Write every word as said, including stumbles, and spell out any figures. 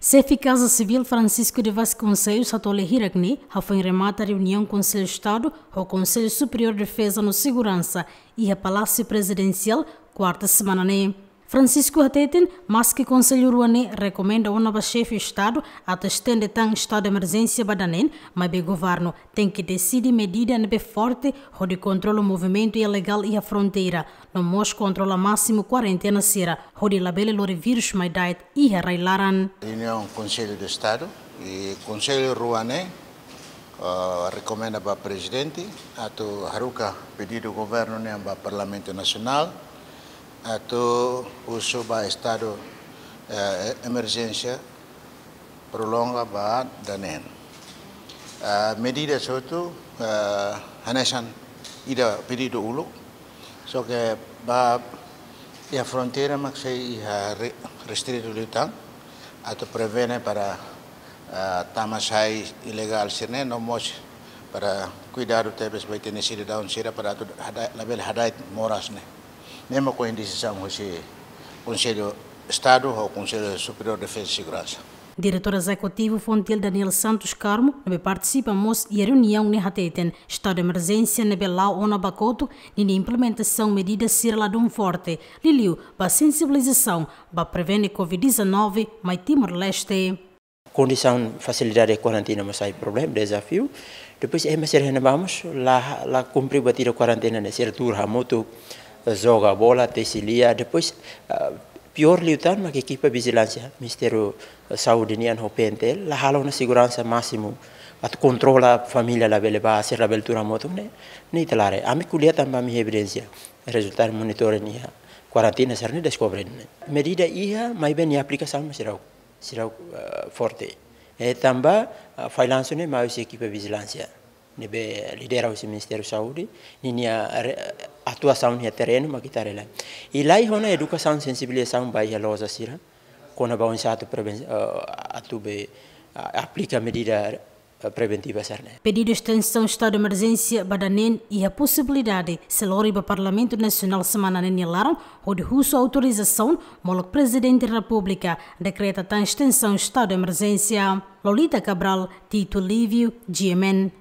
Xefe Kaza Sivíl Francisco de Vasconcelos hato'o lia hirak ne'e hafoin remata reuniaun Konsellu Estadu ho Konsellu Superiór Defeza no Seguransa iha Palásiu Prezidensiál, kuarta semana ne'e. Francisco hateten, maski konsellu rua ne'e rekomenda ona ba Xefe Estadu atu estende tan estadu de emerjénsia ba daneen, maibé governu tenke deside medida ne'ebé forte hodi kontrola movimentu ilegál iha fronteira, no mós kontrola másimu kuarentena sira, hodi labele lori vírus mai da'et iha rai-laran. Reuniaun Konsellu de Estadu, i konsellu rua ne'e, ah, rekomenda ba Prezidente atu haruka pedidu governu nian ba Parlamentu Nasionál atu husu ba estadu, eh, emerjénsia prolonga ba daneen. Ah, medida hotu, ah, hanesan ida pedidu uluk, só ke ba iha fronteira mak sei iha re-, restritu liután, atu prevene para, ah, tama sai ilegál sira-ne'e, no mós para kuidadu tebes ba ita-nia sidadaun sira para atu hada-, labele hada'et moras ne'e. Ne'e mak ohin desizaun husi Konsellu Estadu ho Konsellu Superiór Defeza i Seguransa. Diretór Ezekutivu Fontil Daniel Santos Carmo, ne'ebé partisipa mós iha reuniaun ne'e hateten, estadu de emerjénsia ne'ebé la'o ona ba kotuk, ninia implementasaun medida sira ladún forte, liuliu ba sensibilizasaun ba prevene Covid dezanove mai Timor-Leste. Kondisaun fasilidade kuarentena mós sai problema, dezafiu. Depois ema sira iha ne'ebá mós la, la kumpre buat ida kuarentena ne'e, sira tuur hamutuk, joga bola, tesi lia. Depois, ah, piór liután mak ekipa vijilánsia, Ministériu Saúde nian ho P N T L, la halo ona seguransa másimu atu kontrola família labele bá, sira labele tuur hamutuk ne'e, ne'e ita la haree. Ami ko'alia tanba ami evidénsia, rezultadu monitoring iha kuarentena sira-ne'e deskobre ne'e. Medida iha, maibé nia aplikasaun mak seidauk, seidauk, eh, forte. I tanba, eh, fallansu ne'e mai husi ekipa vijilánsia ne'ebé lidera husi Ministériu Saúde, ninia re-, atuasaun iha terrenu mak ita haree lai. I laiha ona edukasaun, sensibilizasaun ba iha loja sira, kona-ba oinsá atu preven-, eh, atu be, eh, aplika medida, eh, preventiva sira-ne'e. Pedidu estensaun estadu de emerjénsia ba daneen iha posibilidade sei lori ba Parlamentu Nasionál semana ne'e nia laran, hodi husu autorizasaun, molok Prezidente Repúblika dekreta tan estensaun estadu de emerjénsia. Lolita Cabral, Tito Lívio, G M N.